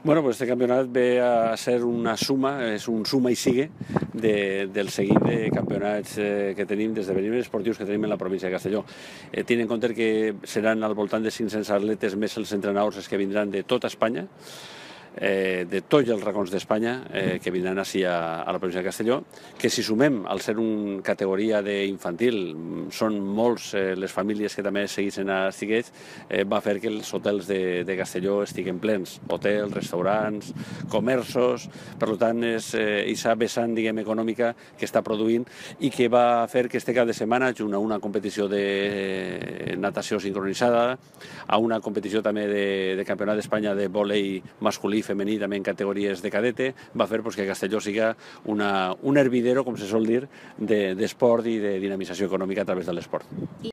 Bueno, pues este campionat ve a ser una suma, és un suma i sigue del seguit de campionats que tenim, d'esdeveniments esportius que tenim en la província de Castelló. Tenint en compte que seran al voltant de 500 atletes més els entrenadors que vindran de tota Espanya, de tots els racons d'Espanya que vindran així a la província de Castelló, que si sumem, al ser una categoria d'infantil, són molts les famílies que també segueixen a Estiguets, va fer que els hotels de Castelló estiguen plens, hotels, restaurants, comerços, per tant és aquesta vessant, diguem, econòmica que està produint i que va fer que este cap de setmana, junt a una competició de natació sincronitzada, a una competició també de campionat d'Espanya de vòlei masculí i femení, també en categories de cadete, va fer que Castelló siga un hervidero, com se sol dir, d'esport i de dinamització econòmica a través de l'esport.